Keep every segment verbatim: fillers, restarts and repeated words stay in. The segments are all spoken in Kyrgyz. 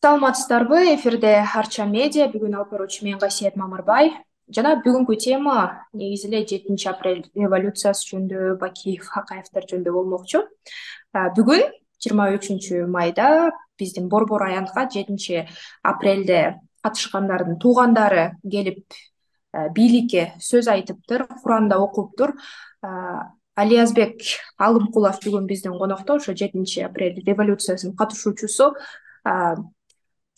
Саламатсыздарбы? Эфирде Арча медиа. Бүгүн алып баруучу мен Гасиет Мамырбай. Жана бүгүнкү тема негизи эле жетинчи апрель революциясы жөнүндө, Бакиев, Акаевдер жөнүндө болмокчу. А, Бүгүн жыйырма үчүнчү майда биздин Борбор аянтка жетинчи апрелде катышкандардын туугандары келип э, бийликке сөз айтыптыр, Куранда окуптур. А, Алиязбек Алымкулов бүгүн биздин конокто, ошо жетинчи апрель революциясынын катышуучусу. А,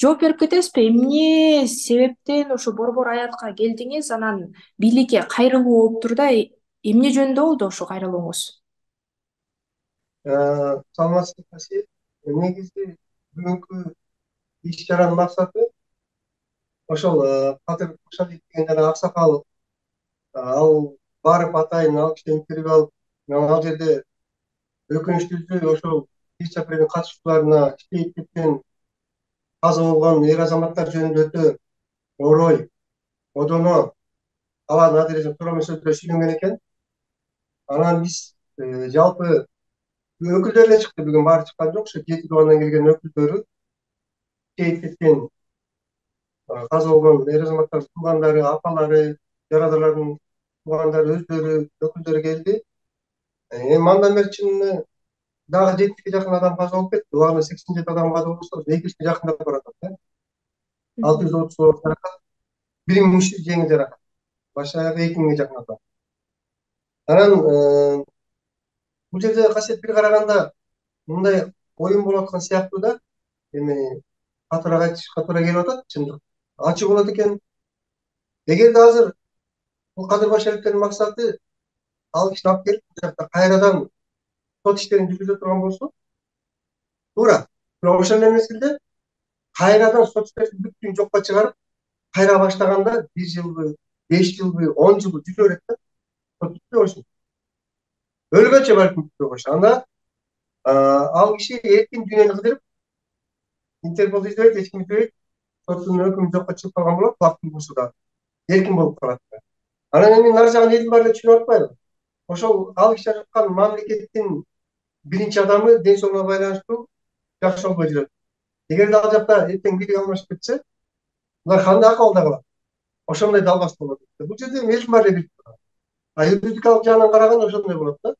Жооп берип кетесизби? Эмне себептен ошо Борбор аянтка келдиңиз? Анан бийликке кайрылуу болуптур да, э- эмне жөнүндө болду ошо кайрылууңуз? Саламатсызбы Касиет. Негизи бүгүнкү иш чаранын максаты ошол Кадыр Кошалиев деген жана аксакал, ал барып атайын ал кишини интервью алып, ал жерде өкүнүчтүүсү ошол биринчи апрелдин катышуучуларына иштейт кеткен каза болгон эр азаматтар жөнүндө өтө орой, одоно алардын адыресин тууралуу сөздөр сүйлөнгөн экен. Анан биз жалпы өкүлдөр эле чыкты, бүгүн баары чыккан жок. Ошо жети тубандан келген өкүлдөрү, иштейт кеткен каза болгон эр азаматтардын туугандары, апалары, жарадарлардын туугандары, өздөрү, өкүлдөрү келди. Эми андан бери чынында дагы жетимишке жакын адам каза болуп кетти. Убагында сексен жети адам каза болсо, эки жүзгө жакындап баратат да. алты жүз отуз оор жаракат, бир миң үч жүз жеңил жаракат. Баш аягы эки миңге жакын адам. Анан бул жерде Касиет бир караганда мындай оюн болуп аткан сыяктуу да. Эми катуураак айтыш катуура келип атат, чындык ачык болот экен. Эгерде азыр бул Кадыр Кошалиевдин максаты ал кишини алып келип бул жакта кайрадан сот иштерин жүргүзө турган болсо туура. Бирок ошол эле мезгилде кайрадан сот иштерин бүткүн жокко чыгарып, кайра баштаганда бир жылбы, беш жылбы, он жылбы жүрө берет да. Сот бүтпөй койсун. Өлгөнчө балким бүтпөй койсун. Анда ал киши эркин дүйнөнү кыдырып, Интерпол издебейт, эч ким издебейт. Соттун өкүмү жокко чыгып калган болот, убакыттын болсо да эркин болуп калат. Анан эми нар жагын элдин баары эле түшүнүп атпайбы? Ошол ал киши жашаткан мамлекеттин биринчи адамы ден соолугуна байланыштуу жакшы болбой жүрөт. Эгерде ал жакта эртең бийлик алмашып кетсе, булар кандай акыбалда калат? Ошондой далбас болот. Бул жерде элдин баары эле билип турат. А юридикалык жагынан караганда ошондой болот да.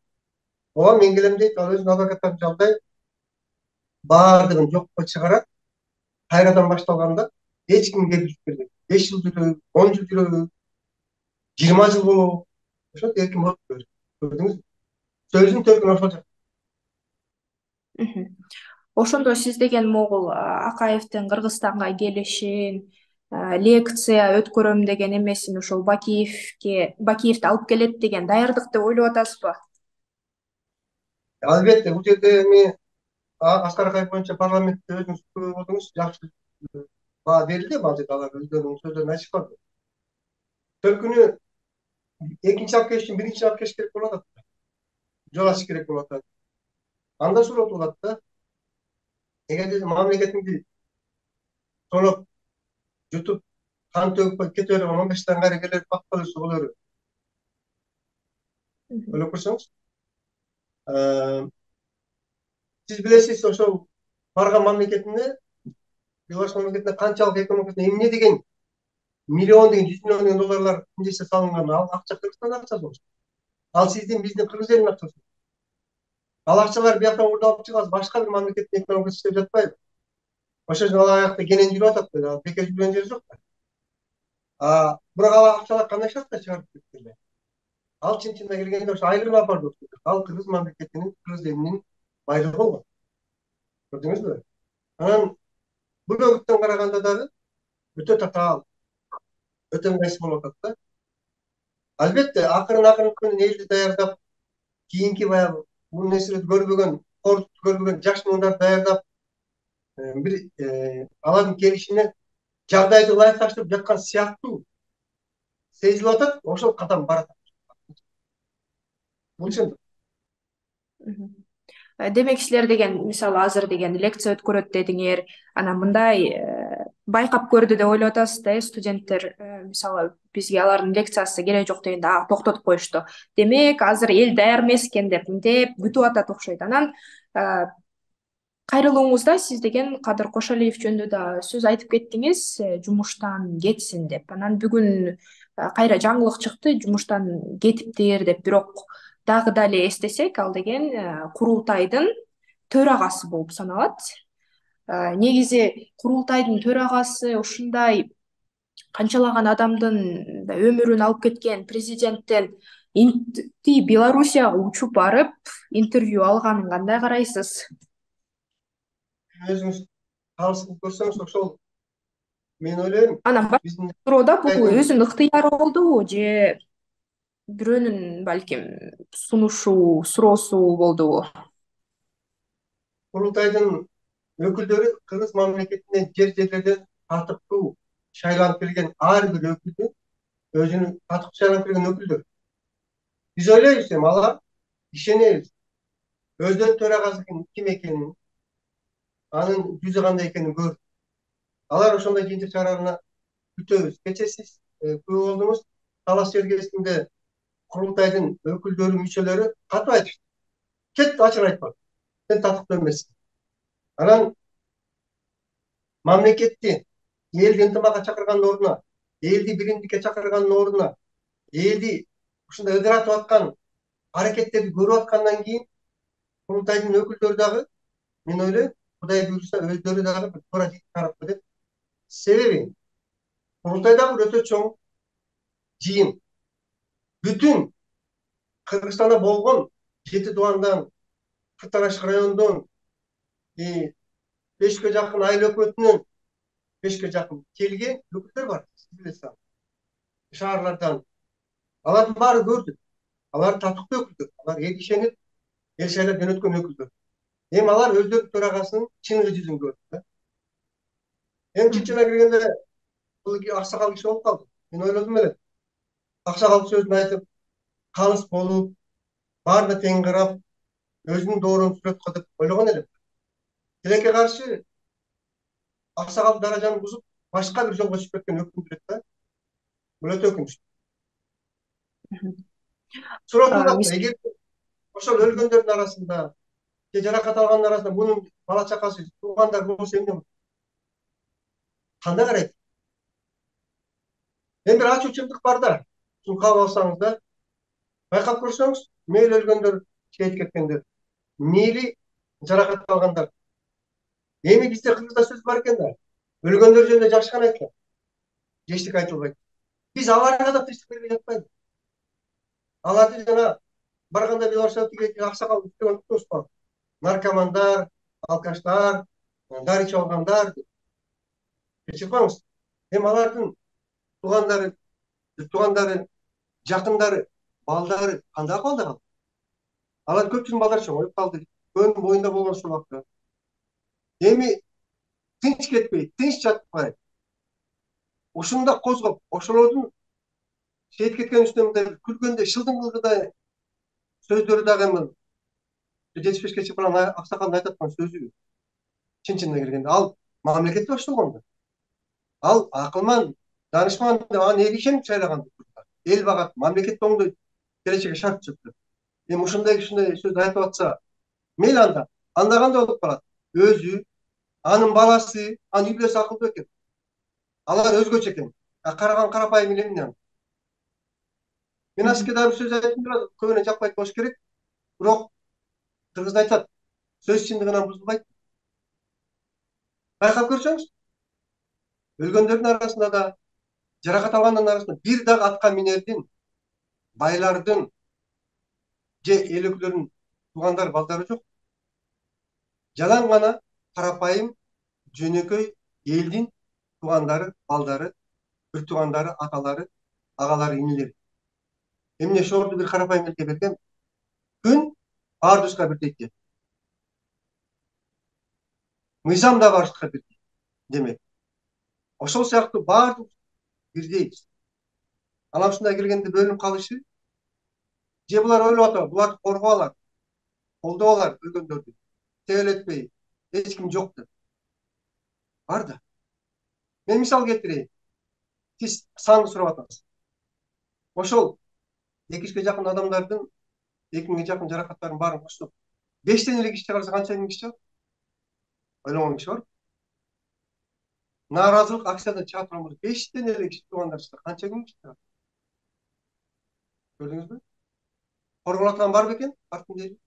Ооба, мен келем дейт, ал өзүнүн адвокаттарын жалдайт, баардыгын жокко чыгарат. Кайрадан башталганда эч ким келип бербейт. беш жыл жүрөбү, он жыл жүрөбү, жыйырма жыл болобу? Ошентип эркин болуп берет. Көрдүңүзбү? Сөздүн төркүнү ошол жакта. Мгм. Ошондо сиз деген могул а, Акаевдин Кыргызстанга келишин, а, лекция өткөрөм деген эмесин ошол Бакиевке Бакиевди алып келет деген даярдык деп ойлоп атасызбы? Албетте, бул жерде эми Аскар Акаев боюнча парламентте өзүңүз күбө болдуңуз, жакшы баа берилди, ал жерде алар өздөрүнүн сөздөрүн айтышпады. Төркүнү экинчи алып келиш үчүн биринчи алып келиш керек болуп атат. Жол ачыш керек болуп атат. Анда суроо туулат да. Эгерде мамлекетиңди тоноп, жутуп, кан төгүп кете берген он беш даңгайрыгерлер бак болсо болору. Мгм. Ойлоп көрсөңүз. Сиз билесиз, ошол барган мамлекетине, Беларусь мамлекетине канчалык экономикасына эмне деген миллион деген, жүз миллион деген долларлар инвестиция салынган. Ал акча Кыргызстандын акчасы болчу. Ал сиздин, биздин Кыргыз элинин акчасы. Ал акчалар бияктан уурдалып чыгат, башка бир мамлекеттин экономикасы иштеп жатпайбы? Ошол үчүн ал аякта кенен жүрүп атат да, бекер жүргөн жери жок да. А бирок ал акчалар кандай шартта чыгарып кетти? Ал чын-чынына келгенде ошо айрым апарды. Ал Кыргыз мамлекетинин, Кыргыз элинин байлыгы болгон. Көрдүңүзбү? Анан бул өгүттөн караганда дагы өтө татаал, өтө ыңгайсыз болуп атат да. Албетте, акырын акырын күнүн элди даярдап, кийинки баягы бул нерселерди көрбөгөн, кордукту көрбөгөн жаш муундарды даярдап, бир алардын келишине жагдайды ылайыкташтырып жаткан сыяктуу сезилип атат. Ошол кадам барат. Бул чындык. Мгм. Э, Демек силер деген мисалы азыр деген лекция өткөрөт дедиңер, анан мындай э, байкап көрдү деп ойлоп атасыз да, э, студенттер э, мисалы бизге алардын лекциясы кереги жок дегенде а токтотуп коюшту. Демек азыр эл даяр эмес экен деп мынтип күтүп атат окшойт. Анан э, кайрылууңузда сиз деген Кадыр Кошалиев жөнүндө да сөз айтып кеттиңиз, э, жумуштан кетсин деп. Анан бүгүн э, кайра жаңылык чыкты, жумуштан кетиптир деп. Бирок дагы дале эстесек, ал деген э, курултайдын төрагасы болуп саналат. Э, Негизи курултайдын төрагасы ушундай канчалаган адамдын да өмүрүн алып кеткен президенттен инти Белоруссияга учуп барып интервью алганын кандай карайсыз? Өзүңүз калысын көрсөңүз ошол мен ойлойм Анан биздин башкороодо бул Кытайдын өзүнүн ыктыяры болдубу же бирөөнүн балким сунушу, суроосу болдубу? курултайдын өкүлдөрү кыргыз мамлекетинен жер жерлерден татыктуу шайланып келген ар бир өкүлдү өзүнүн татыктуу шайланып келген өкүлдөр. Биз ойлойбуз эми алар ишенебиз. Өздөрүнүн төрагасы ким экенин, анын жүзү кандай экенин көрдүк. Алар ошондой жыйынтык чыгарарына күтөбүз. Кечээ сиз күбө болдуңуз, талаш чергесинде курултайдын өкүлдөрү, мүчөлөрү катып айтышты. Кет ачык айтпа. Сен татыктуу эмессиң. Анан мамлекетти, элди ынтымакка чакыргандын ордуна, элди биримдикке чакыргандын ордуна, элди ушундай ыдыратып аткан аракеттерди көрүп аткандан кийин курултайдын өкүлдөрү дагы, мен ойлойм, Кудай буйруса өздөрү дагы бир туура жыйынтык чыгарат деп. Себеби курултай дагы бир өтө чоң жыйын. Бүтүн Кыргызстанда болгон жети тубандан, Кыртар ашык районунан, бешке жакын айыл өкмөтүнөн бешке жакын келген өкүлдөр бар. Сиз билесиз аны. Шаарлардан. Алардын баары көрдүк. Алар татыктуу өкүлдөр. Алар эл ишенип, эл шайлап жөнөткөн өкүлдөр. Эми алар өздөрүнүн төрагасынын чыныгы жүзүн көрдү. Эми чынчына киргенде бул аксакал киши болуп калды. Мен ойлодум эле. Аксакал сөзүн айтып, калыс болуп, баарына тең карап, өзүнүн доорун сүрөт кылып ойлогон элем. Тилекке каршы аксакал даражаны бузуп, башка бир жолго чыгып кеткен өкүмдү элек да. Бул өтө өкүнүчтүү. Суроосун А, атты. мис- Эгер ошол өлгөндөрдүн арасында же жаракат алгандын арасында мунун бала чакасы, туугандары болсо эмне болот? Кандай карайт? Эми бир ачуу чындык бар да. Шуну кабыл алсаңыз да, байкап көрсөңүз, мейли өлгөндөр, шейит кеткендер, мейли жаракат алгандар. Эми бизде Кыргызда сөз бар экен да. Өлгөндөр жөнүндө жакшы гана айтылат. Эчтеке айтылбайт. Биз аларга да тынчтык бербей жатпайбыз. Аларды жана барганда Белоруссияга тиги аксакал деген уктубуз бар. Наркомандар, алкаштар, дары ичип алгандар. Кечирмаңыз. Эми алардын туугандары, туугандары, жакындары, балдары кандай акыбалда калды? Алар көпчүлүктүн балдары чоңоюп калды. Көбүнүн боюнда болгон ушул убакта. Эми тынч кетпей, тынч жатпай, ушунда козгоп, ошолордун шейит кеткен үстүнө мындай күлгөндөй, шылдыңгылгыдай сөздөрү дагы эми жетимиш бешке чыккан аксакалдын айтып аткан сөзү чын чынына келгенде ал мамлекетти баштаган да. Ал акылман, данышман деп анын эли ишенип шайлаган. Эл багат, мамлекетти оңдойт, келечекке шарт түзөт. Эми ушундай ушундай сөз айтып атса, мейли анда, анда кандай болуп калат? Өзү, анын баласы, анын үй бүлөсү акылдуу экен. Алар өзгөчө экен. Караган карапайым эле эмне? Мен ачык дагы бир сөз айтып турат, көбүнө жакпайт болуш керек. Бирок кыргызда айтат, сөз чындыгынан бузулбайт. Байкап көрсөңүз, өлгөндөрдүн арасында да, жаракат алгандардын арасында бир дагы атка минердин, байлардын же эл өкүлдөрүнүн туугандары, балдары жок. Жалаң гана карапайым, жөнөкөй элдин туугандары, балдары, бир туугандары, аталары, агалары, инилери. Эмне шоорду бир карапайым элге берген? Күн баардыгыбызга бирдей. Мыйзам да баарыбызга бирдей. Демек, ошол сыяктуу баардык бирдейбиз. Анан ушундай келгенде бөлүнүп калышы, же булар ойлоп атабы, буларды коргоп алат, колдоп алар өлгөндөрдү, тебелетпей, эч ким жок деп. Бар да. Мен мисал келтирейин. Сиз санды сурап атасыз. Ошол эки жүзгө жакын адамдардын эки миңге жакын жаракаттарын баарын коштоп, бештен эле киши чыгарса канча миң киши чыгат? ойлогон киши бар. Нааразылык акциядан чыга турган болсо бештен эле кичи туугандар чыкты. Канча күн чыкты? Көрдүңүзбү? Корголоткан бар бекен? Парктын жери.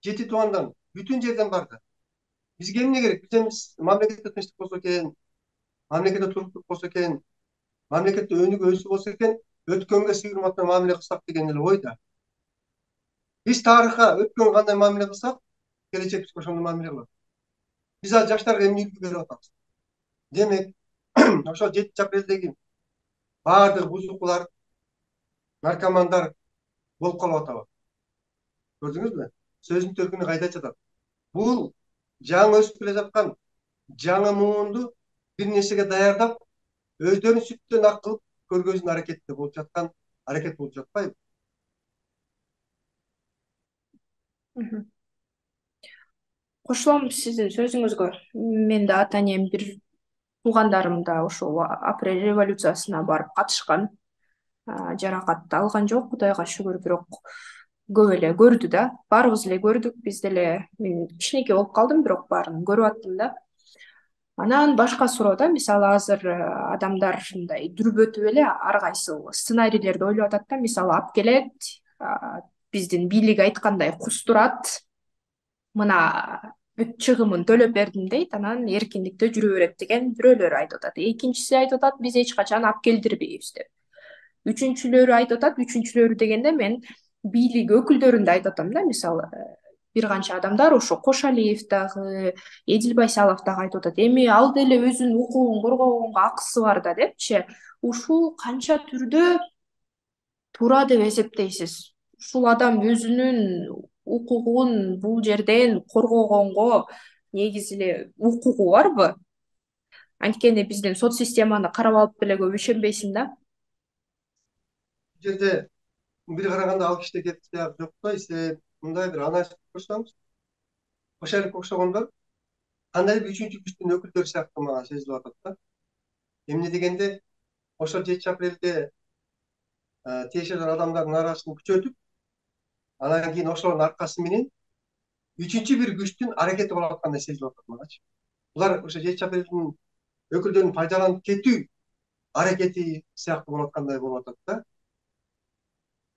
Жети туугандан бүтүн жерден барды. Бизге эмне керек? Биз эми мамлекетте тынчтык болсо экен, мамлекетте туруктук болсо экен, мамлекетте өнүгүү өсүү болсо экен, өткөнгө сый урматтуу мамиле кылсак деген эле ойда. Биз тарыхка өткөн кандай мамиле кылсак, келечек бизге ошондой мамиле кылат. Биз ал жаштарга эмне үлгү берип атабыз? Демек, ошол жетинчи апрелдеги баардык бузукулар, наркомандар болуп калып атабы? Көрдүңүзбү? Сөздүн төркүнү кайда жатат? Бул жаңы өсүп келе жаткан жаңы муунду бир нерсеге даярдап, өздөрүн сүттөн ак кылып көргөзүүнүн аракетинде болуп жаткан аракет болуп жатпайбы? Кошулам сиздин сөзүңүзгө. Мен да ата энем, бир туугандарым да ошол апрель революциясына барып катышкан. Жаракат алган жок, Кудайга шүгүр, бирок көп эле көрдү да. Баарыбыз эле көрдүк, биз деле. Мен кичинекей болуп калдым, бирок баарын көрүп аттым да. Анан башка суроо да, мисалы азыр адамдар мындай дүрбөтүп эле ар кайсыл сценарийлерди ойлоп атат да. Мисалы алып келет, биздин бийлик айткандай кустурат, мына бүт чыгымын төлөп бердим дейт, анан эркиндикте жүрө берет деген бирөөлөр айтып атат. Экинчиси айтып атат, биз эч качан алып келдирбейбиз деп. Үчүнчүлөрү айтып атат, үчүнчүлөрү дегенде мен бийлик өкүлдөрүн да айтып атам да. Мисалы бир канча адамдар, ошо Кошалиев дагы, Эдил Байсалов дагы айтып атат, эми ал деле өзүнүн укугун коргогонго акысы бар да депчи. Ушул канча түрдө туура деп эсептейсиз? Ушул адам өзүнүн укугун бул жерден коргогонго негизи эле укугу барбы? Анткени биздин сот системаны карап алып деле көп ишенбейсиң да. Бул жерде бир караганда ал кишиде кеп жок да, исе мындай бир анализ көрсөңүз, Кошалиевке окшогондор кандайдыр бир үчүнчү күчтүн өкүлдөрү сыяктуу мага сезилип атат да. Эмне дегенде, ошол жетинчи апрелде тиешелүү адамдардын нааразычылыгын күчөтүп, анан кийин ошолордун аркасы менен үчүнчү бир күчтүн аракети болуп аткандай сезилип атат магачы. Булар ошо жетинчи апрелдин өкүлдөрүн пайдаланып кетүү аракети сыяктуу болуп аткандай болуп атат да.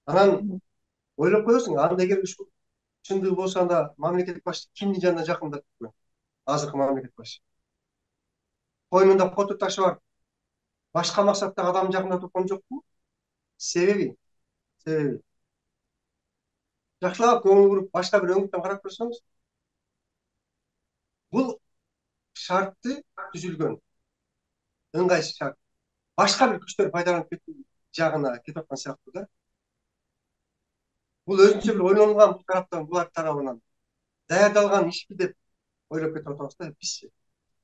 Анан ойлоп коесуң, анда эгер ушул чындыгы болсо, анда мамлекет башчы кимдин жанына жакындап жүргөн? Азыркы мамлекет башчы койнунда поту ташы бар башка максаттагы адам жакындап турган жокпу? Себеби себеби жакшылап көңүл буруп башка бир өңүттөн карап көрсөңүз, бул шартты түзүлгөн ыңгайсыз шарт башка бир күчтөр пайдаланып кетүү жагына кетип аткан сыяктуу да. Бул өзүнчө бир ойлонгон тараптан, булар тарабынан даярдалган ишпи деп ойлоп кетип атабыз да бизчи.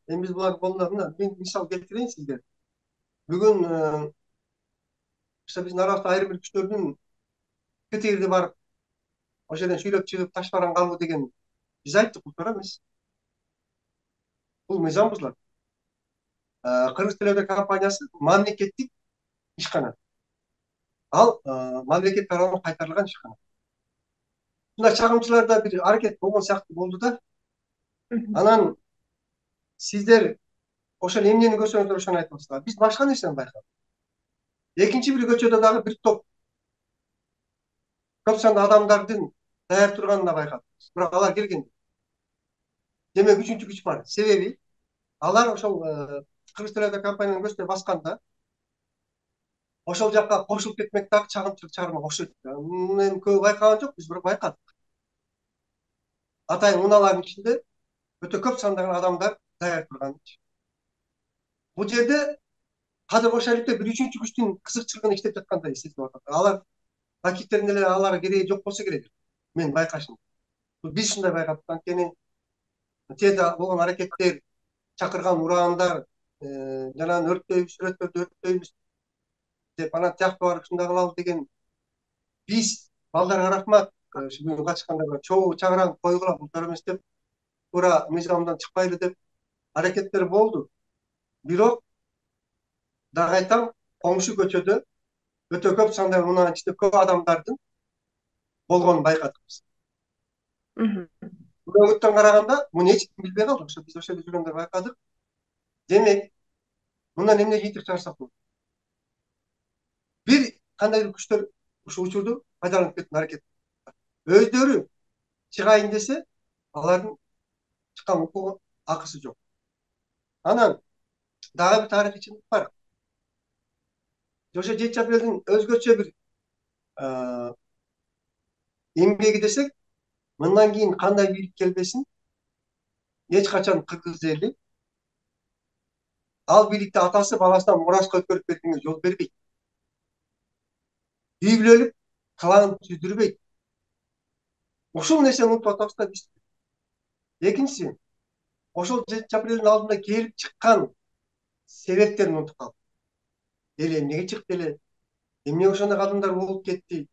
Эми биз булардын колунда мына мен мисал келтирейин сизге. Бүгүн биздин арабызда айрым бир күчтөрдүн ктирди барып ошол жерден шүйлөп чыгып таш баран калуу деген биз айттык, бул туура эмес. Бул мыйзам бузулат. Кыргыз Телеодор компаниясы мамлекеттик ишкана. Ал мамлекет тарабынан кайтарылган ишкана. Мындай чагымчыларда бир аракет болгон сыяктуу болду да. Анан сиздер ошол эмнени көрсөңүздөр ошону айтасыздар. Биз башка нерсени байкадык. Экинчи бир көчөдө дагы бир топ көп санды адамдардын даяр турганын байкадык. Бирок алар келген. Демек үчүнчү күч бар. Себеби алар ошол Кыргыз Телеодор компаниянын көзүнө басканда ошол жакка кошулуп кетмек дагы чагымчылык чыгармак окшойт. Мен көп байкаган жокпуз, бирок байкадык. Атайын унаалардын ичинде өтө көп сандагы адамдар даяр турган. Бул жерде Кадыр Кошалиевде бир үчүнчү күчтүн кызыкчылыгын иштеп жаткандай сезилип атат. Алар ракеттерин эле аларга кереги жок болсо керек. Мен байкашым. Биз ушундай байкадык. Анткени тиеде болгон аракеттер, чакырган ураандар, жанагы өрттөйбүз, сүрөттөрдү өрттөйбүз деп анан тияктуу барып ушундай кылабыз деген. Биз балдарга рахмат, бүгүн катышкандарга чогуу чагыраңып койгула, бул туура эмес деп, туура мыйзамдан чыкпайлы деп аракеттер болду. Бирок дагы айтам, коңшу көчөдө өтө көп сандагы унаанын ичинде көп адамдардын болгонун байкадык биз. өгүттөн караганда муну эч ким билбей калды. Ошо биз ошол жерде жүргөндө байкадык. Демек, мындан эмне жыйынтык чыгарсак болот? Бир кандайдыр күчтөр ушул учурду пайдаланып кетүүнү аракет кылат. Өздөрү чыгайын десе, алардын чыккан укугу акысы жок. Анан дагы бир тарыхый чындык бар. Ошо жетинчи апрелдин өзгөчө бир эмгеги десек, мындан кийин кандай бийлик келбесин, эч качан кыргыз эли ал бийликти атасы баласынан мураска өткөрүп бергенге жол бербейт. Үй бүлөлүк клан түздүрбөйт. Ушул нерсени унутуп атабыз да биз. Экинчиси, ошол жетинчи апрелдин алдында келип чыккан себептерин унутуп калдык. Эл эмнеге чыкты эле? Эмне ошондой кадамдар болуп кетти?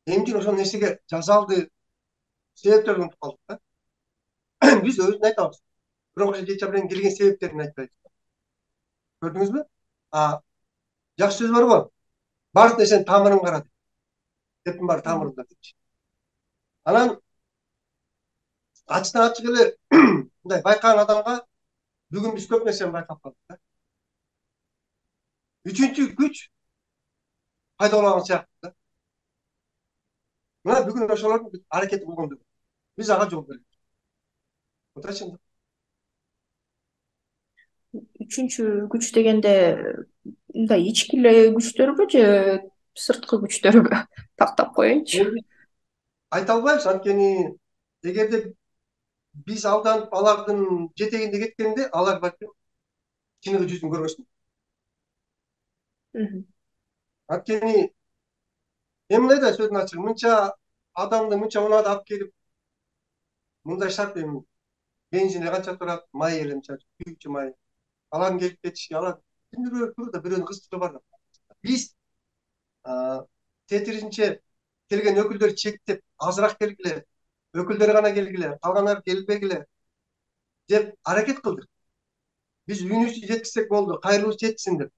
Эмне үчүн ошол нерсеге жасалды? Себептерин унутуп калдык да. Биз өзүн айтабыз. Бирок ошо жетинчи апрелдин келген себептерин айтпайбыз. Көрдүңүзбү? А жакшы сөз барбы? Баардык нерсенин тамырын кара. Эптин баары тамырында депчи. Анан ачтан ачык эле мындай байкаган адамга бүгүн биз көп нерсени байкап калдык да. Үчүнчү күч пайда болгон сыяктуу да. Мына бүгүн ошолордун аракети болгон. Биз ага жол бербейбиз. Отурачы. Үчүнчү күч дегенде мындай ички эле күчтөрбү же сырткы күчтөрбү? Тактап коеюнчу. Айта албайбыз, анткени эгерде биз алданып алардын жетегинде кеткенде алар балким чыныгы жүзүн көрбөсүн. Анткени эми мындай да сөздүн ачыгы, мынча адамды мынча унаада алып келип, мындай шарт эми бензин канча турат, май эле мынча күйүүчү май. Алардын келип кетиши, алар күндүрө турда бирөөнүн кызыктыгы бар да. Биз тетиринче келген өкүлдөр чектеп, азыраак келгиле, өкүлдөр гана келгиле, калгандар келбегиле деп аракет кылдык. Биз үйүнүбүздү жеткизсек болду, кайрылып жетсин деп.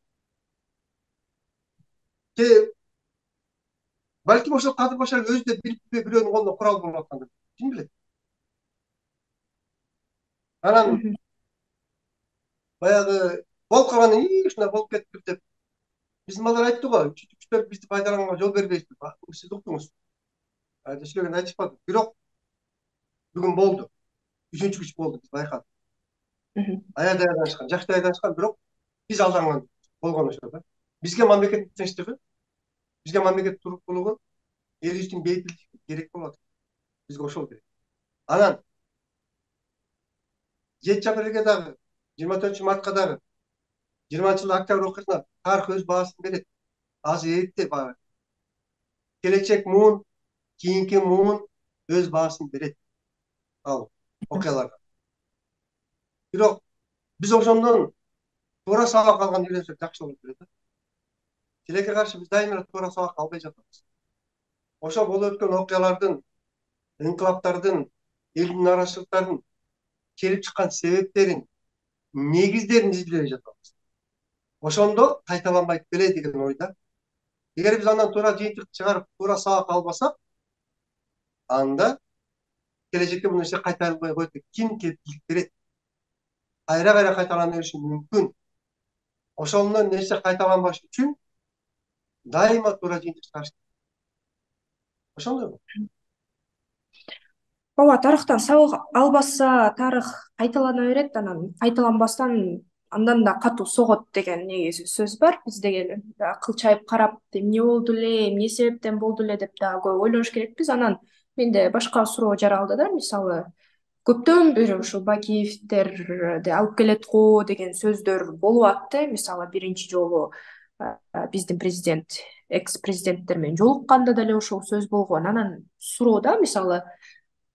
Балким ошол Кадыр Башаров өзү да билиппи, бирөөнүн колунда курал болуп аткандыр. Ким билет? Анан баягы болуп калганда ии ушундай болуп кетиптир деп биздин балдар айтты го, үчүнчү күчтөр бизди пайдаланганга жол бербейт деп. Сиз уктуңуз. Ачык айтышпады. Бирок бүгүн болду. Үчүнчү күч болду, биз байкадык. Аябай даянышкан, жакшы даянышкан, бирок биз алданган болгон ошо да. Бизге мамлекеттин тынчтыгы, бизге мамлекет туруктуулугу, элибиздин бейбитчилиги керек болот. Бизге ошол керек. Анан жетинчи апрелге дагы, жыйырма төртүнчү мартка дагы, жыйырманчы жылы октябрь окуясына тарых өз баасын берет. Азыр эрте баары. Келечек муун, кийинки муун өз баасын берет. Ал окуяларга. Бирок биз ошондон туура сабак алганды үйрөнсөк жакшы болот эле да. Тилекке каршы биз дайыма туура сабак албай жатабыз. Ошо болуп өткөн окуялардын, инкылаптардын, элдин нараачылыктардын келип чыккан себептерин, негиздерин изилдей жатабыз. Ошондо кайталанбайт беле деген ойда. Эгер биз андан туура жыйынтык чыгарып, туура сабак албасак, анда келечекте бул нерсе кайталанбай коет. Ким кепилдик берет? Кайра-кайра кайталана бериши мүмкүн. Ошондон нерсе кайталанбаш үчүн дайыма туура жыйынтык чыгарыш керек. Ошондойбу? Ооба, тарыхтан сабак албаса, тарых кайталана берет, анан кайталанбастан андан да катуу согот деген негизи сөз бар. Биз деген кылчайып карап, эмне болду эле, эмне себептен болду эле деп да көп ойлош керекпиз. Анан менде башка суроо жаралды да, мисалы, көптөн бери ушул Бакиевтерди алып келет го деген сөздөр болуп атты. Мисалы, биринчи жолу биздин президент, экс-президенттер менен жолукканда деле ошол сөз болгон. Анан суроо да, мисалы,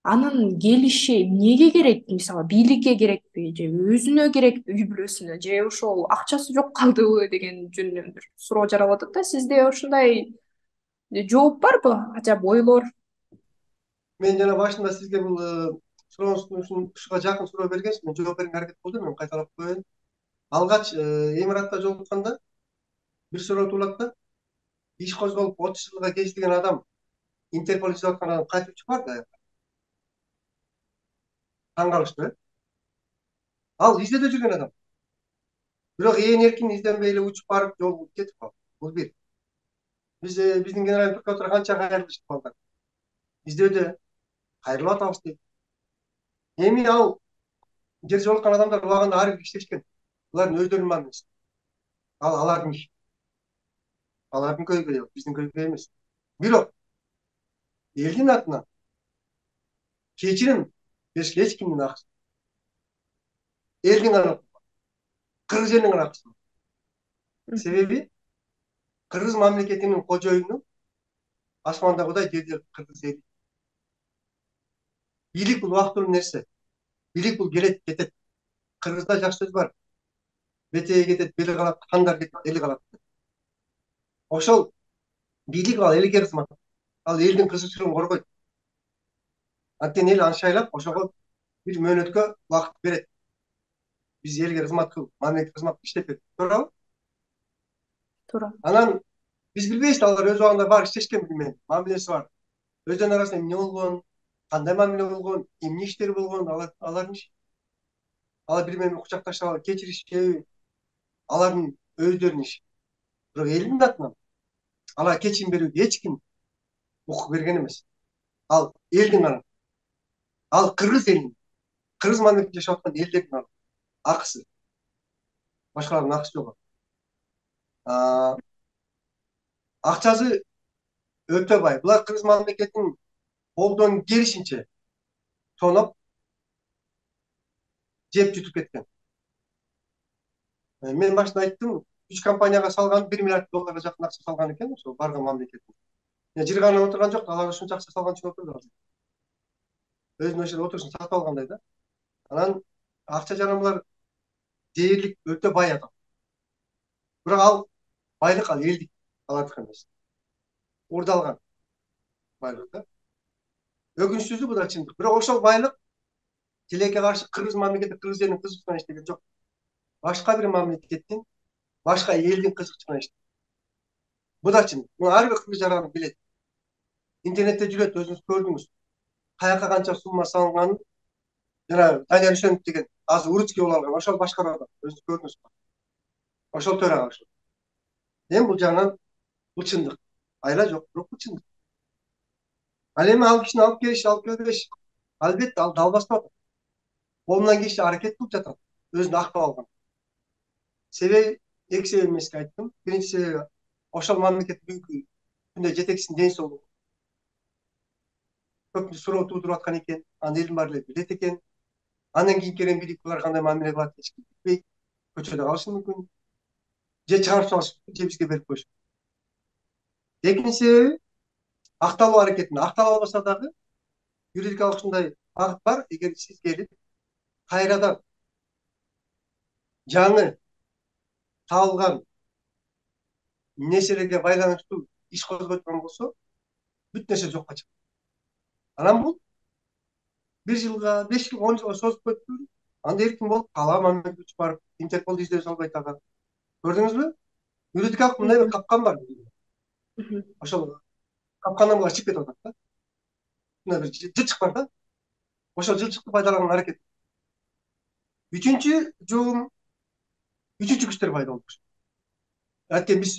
анын келиши эмнеге керек? Мисалы, бийликке керекпи же өзүнө керекпи, үй бүлөсүнө, же ошол акчасы жок калдыбы деген жөнүндө бир суроо жаралып атат да. Сизде ушундай жооп барбы? Ажап ойлор? Мен жана башында сизге бул сурооңуздун ушуга жакын суроо бергенсиз, мен жооп берүүгө аракет кылдым, мен кайталап коеюн. Алгач Эмиратта жолукканда бир суроо туулат да. Иш козголуп отуз жылга кездеген адам Интерпол издеп аткан адам кайтып чыгып барбы? таң калыштуу э ал издөөдө жүргөн адам, бирок ээн эркин изденбей эле учуп барып жол кетип калды. Бул бир. Биз биздин генеральный прокуратура канча кайрылышты балдар. Издөөдө кайрылып атабыз дейт. Эми ал жер жолуккан адамдар убагында ар бир иштешкен. Булардын өздөрүнүн мамилеси. Ал алардын иши. Алардын көйгөйү, биздин көйгөй эмес. Бирок элдин атынан кечирим беришке эч кимдин акысы. Элдин гана, кыргыз элинин гана акысы. Себеби кыргыз мамлекетинин кожоюну асмандагыдай жерде кыргыз эли. Бийлик бул убактылуу нерсе. Бийлик бул келет, кетет. Кыргызда жакшы сөз бар. Бетеги кетет, бели калат, кандар кетет, эли калат. Ошол бийлик ал элге кызмат. Ал элдин кызыкчылыгын коргойт. Анткени эл анчайлап ошого бир мөөнөткө убакыт берет. Биз элге кызмат кыл, мамлекетке кызмат иштеп бер. Туурабы? Туура. Анан биз билбейбиз, алар өз убагында бар иштешкен билмейм, мамилеси бар. Өздөрүнүн арасында эмне болгон, кандай мамиле болгон, эмне иштер болгон, алар алардын иши. Алар бири менен кучакташып кечиришеби, алардын өздөрүнүн иши. Бирок элдин атынан алар кечирим берүүгө эч ким укук берген эмес. Ал элдин гана. Ал кыргыз элинин, кыргыз мамлекетинде жашап аткан элдердин акысы. Башкалардын акысы жок. Акчасы өтө бай. Булар кыргыз мамлекетинин колдон келишинче тоноп жеп жутуп кеткен. Мен башында айттым, үч компанияга салган бир миллиард долларга жакын акча салган экен, ошо барган мамлекеттин. Жырганып отурган жок, алар ушунча акча салган үчүн отурду. Өзүнүн ошол отурушун сатып алгандай да. Анан акча жаранлар дээрлик өтө бай адам. Бирок ал байлык ал элдик, алардыкы эмес. Урдалган байлык да. Өкүнүчтүүсү бул да чындык. Бирок ошол байлык тилекке каршы кыргыз мамлекети, кыргыз элинин кызыкчылыгына иштеген жок. Башка бир мамлекеттин, башка элдин кызыкчылыгына иштеген. Бул да чындык. Муну ар бир кыргыз жаран билет. Интернетте жүрөт, өзүңүз көрдүңүз. Каяка канча сумма салынганын, жана Данияр Үсөнов деген азыр уручки болуп алган, ошол башкарып атат. Өзүңүз көрдүңүз. Ошол төрага ошол. Эми бул жагынан бул чындык. Айла жок, бирок бул чындык. Ал эми ал кишини алып келиш, алып келбеш, албетте ал далбастап атат. Колунан келишинче аракет кылып жатат, өзүн актап алган. Себеби эки себеп эмеске айттым. Биринчи себеби ошол мамлекет бүгүнкү күндө жетекчисинин ден соолугу. Көп суроо туудуруп аткан экен, анын элдин баары эле билет экен. Андан кийин келген бийлик булар кандай мамиле кылат эч ким билбейт. Көчөдө калышы мүмкүн. Же чыгарып салышы мүмкүн, же бизге берип коюшу. Экинчи себеби акталуу аракетинде. Актала албаса дагы юридикалык ушундай багыт бар, эгер сиз келип кайрадан жаңы табылган нерселерге байланыштуу иш козготкон болсо, бүт нерсе жокко чыгат. Анан бул бир жылга, беш жылга, он жылга созуп кетпөйбү? Анда эркин болуп кала мамлекет үчүп барып, Интерпол издөө салбайт ага. Көрдүңүзбү? Юридикалык мындай бир капкан бар. Ошол капкандан булар чыгып кетип атат да. Мына бир жылчык бар да. Ошол жылчыкты пайдаланган аракет. Үчүнчү жолум үчүнчү күчтөр пайда болду. Анткени биз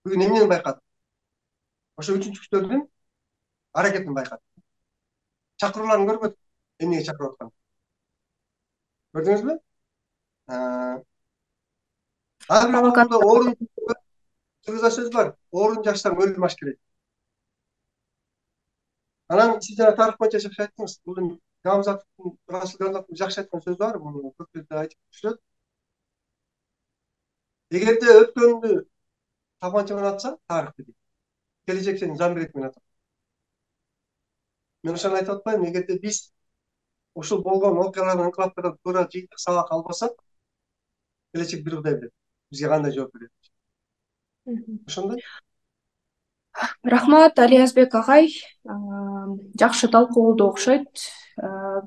бүгүн эмнени байкадык? Ошо үчүнчү күчтөрдүн аракетин байкадык. Чакырууларын көрбөдүк. Эмнеге чакырып аткан? Көрдүңүзбү? Ар бир коомдо орун, кыргызда сөз бар. Орун жашсаң өлүм аш керек. Анан сиз жана тарых боюнча жакшы айттыңыз. Бул Гамзатовдун, Расул Гамзатовдун жакшы айткан сөзү бар, муну көп жерде айтып жүрөт. Эгерде өткөндү тапанча менен атсаң, тарых дейт. Келечек сени замбирек менен атат. Мен ошону айтып атпайм, эгерде биз ушул болгон окуялардан, инкылаптардан туура жыйынтык сабак албасак, келечек бир Кудай билет. Бизге кандай жооп берет. Ошондой. Рахмат, Алиязбек агай. Жакшы талкуу болду окшойт.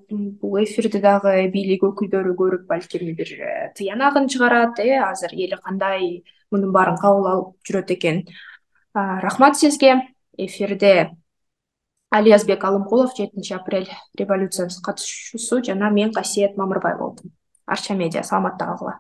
Бул эфирди дагы бийлик өкүлдөрү көрүп, балким бир тыянагын чыгарат, э, азыр эл кандай мунун баарын кабыл алып жүрөт экен. Рахмат сизге. Эфирде Алиязбек Алымкулов жетинчи апрель революциясынын катышуусу жана мен Касиет Мамырбай болдум. Арча медиа саламатта калгыла.